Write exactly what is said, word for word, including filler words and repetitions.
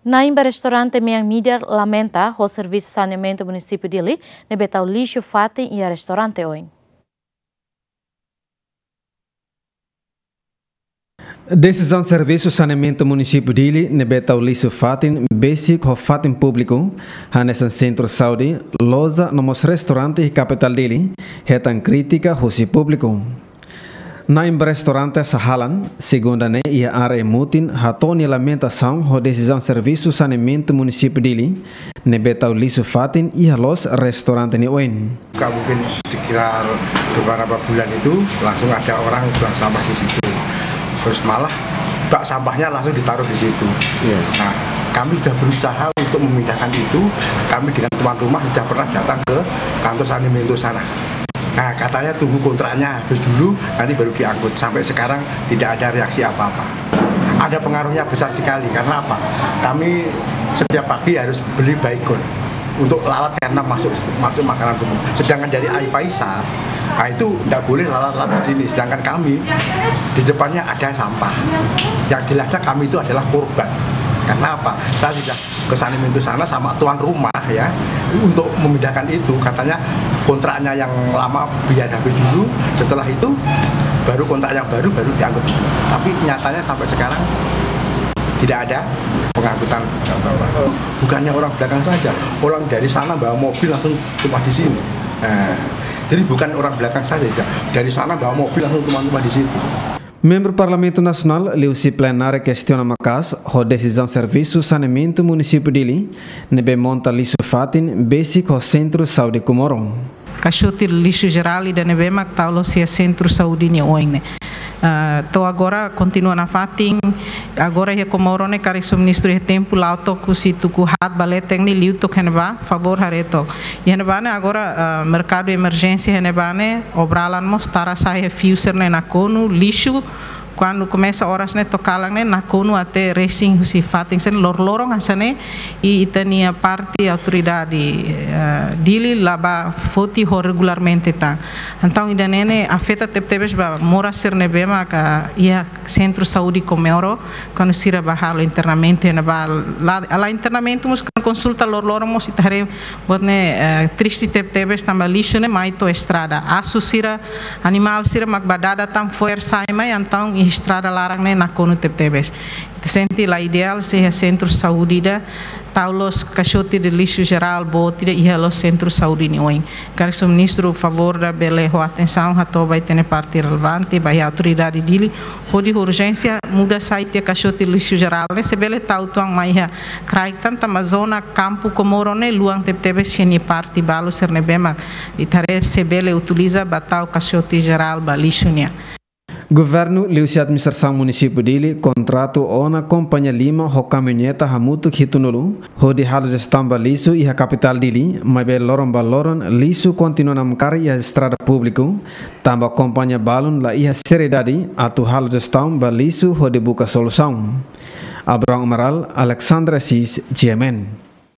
Na'in ba restaurante Mean Midar lamenta ho servisu saneamentu munisípiu Dili ne'ebé tau lixu fatin iha restaurante oin. Desizaun servisu saneamentu munisípiu Dili ne'ebé tau lixu fatin besik ho fatin públiku, hanesan sentru saúde, loja no mós restaurante iha kapitál Dili, hetan krítika husi públiku. Na'in ba restaurante Sahalan, segunda ne'e iha área mutin hato'o nia lamentasaun ho desizaun servisu saneamentu munisípiu Dili ne'ebé tau lixu fatin iha loos restaurante nia oin. Buka mungkin sekitar beberapa bulan itu langsung ada orang buang sampah di situ. Terus malah bak sampahnya langsung ditaruh di situ. Iya. Nah, kami sudah berusaha untuk memindahkan itu. Kami dengan tuan rumah sudah pernah datang ke kantor saneamentu sana. Nah, katanya tunggu kontraknya habis dulu, nanti baru diangkut. Sampai sekarang tidak ada reaksi apa-apa. Ada pengaruhnya besar sekali. Karena apa? Kami setiap pagi harus beli baygon untuk lalat karena masuk masuk makanan semua. Sedangkan dari Aifaisa, nah, itu tidak boleh lalat-lalat di sini. Sedangkan kami di depannya ada sampah. Yang jelasnya kami itu adalah korban. Karena apa? Saya sudah ke saneamentu sana sama tuan rumah, ya, untuk memindahkan itu. Katanya kontraknya yang lama biar habis dulu, setelah itu baru kontrak yang baru, baru diangkut. Tapi nyatanya sampai sekarang tidak ada pengangkutan. Bukannya orang belakang saja, orang dari sana bawa mobil langsung tumpah di sini. Nah, jadi bukan orang belakang saja, dari sana bawa mobil langsung tumpah-tumpah di situ. Membru Parlamentu Nasionál liuhusi plenária kestiona maka'as ho desizaun servisu saneamentu munisípiu Dili ne'ebé monta lixu fatin besik ho sentru saúde Comoro. Kaixote lixu jerál ida ne'ebé mak tau loos iha sentru saúde nia oin ne'e. Ah, to'o agora kontinua nafatin. Agora iha Comoro ne'e karik sua ministru iha tempu la'o to'o husi tuku haat ba leten ne'e liu to'o iha ne'ebá, favór haree to'ok. Iha ne'ebá ne'e agora, ah, merkadu emerjénsia iha ne'ebá ne'e, obralan mós tara sa'e iha fiu sira-ne'e nakonu lixu, kuandu komesa oras ne'e to'o kalan ne'e nakonu até resin husi fatin sira-ne'e loroloron hanesan ne'e, i ita-nia parte autoridade, eh, Dili la bá foti ho regularmente tan. Entaun ida-ne'e ne'e afeta tebetebes ba moras sira ne'ebé maka iha sentru saúde Comoro, kuandu sira bá halo internamentu iha ne'ebá, la, la internamentu mós konsulta loroloron mós ita haree buat ne'e, eh, triste tebetebes tanba lixu ne'e mai to'o estrada. Asu sira, animál sira mak bá dada tan fo'er sa'e mai, entaun iha estrada laran ne'e nakonu tebetebes. Ita sente la ideál se iha sentru saúde ida tau loos kaixote de lixu jerál boot ida iha loos sentru saúde nia oin. Karik sua ministru favór ida bele ho atensaun hato'o ba ita-nia parte relevante, ba iha autoridade Dili, hodi urjénsia muda sai tiha kaixote lixu jerál ne'e, se bele tau uitoan mai iha kraik tan tanba zona kampu Comoro ne'e luan tebetebes iha nia parte balu sira ne'ebé mak ita haree se bele utiliza ba tau kaixote jerál ba lixu nian. Governu liuhusi administrasaun munisípiu Dili kontratu ona kompañia lima ho kamioneta hamutuk hitunulu hodi halo jestaun ba lixu iha kapitál Dili, maibé loron ba loron lixu kontinua namkari iha estrada públiku, tanba kompañia balun la iha seriedade atu halo jestaun ba lixu hodi buka solusaun. Abrão Amaral, Alexandre Assis, G M N.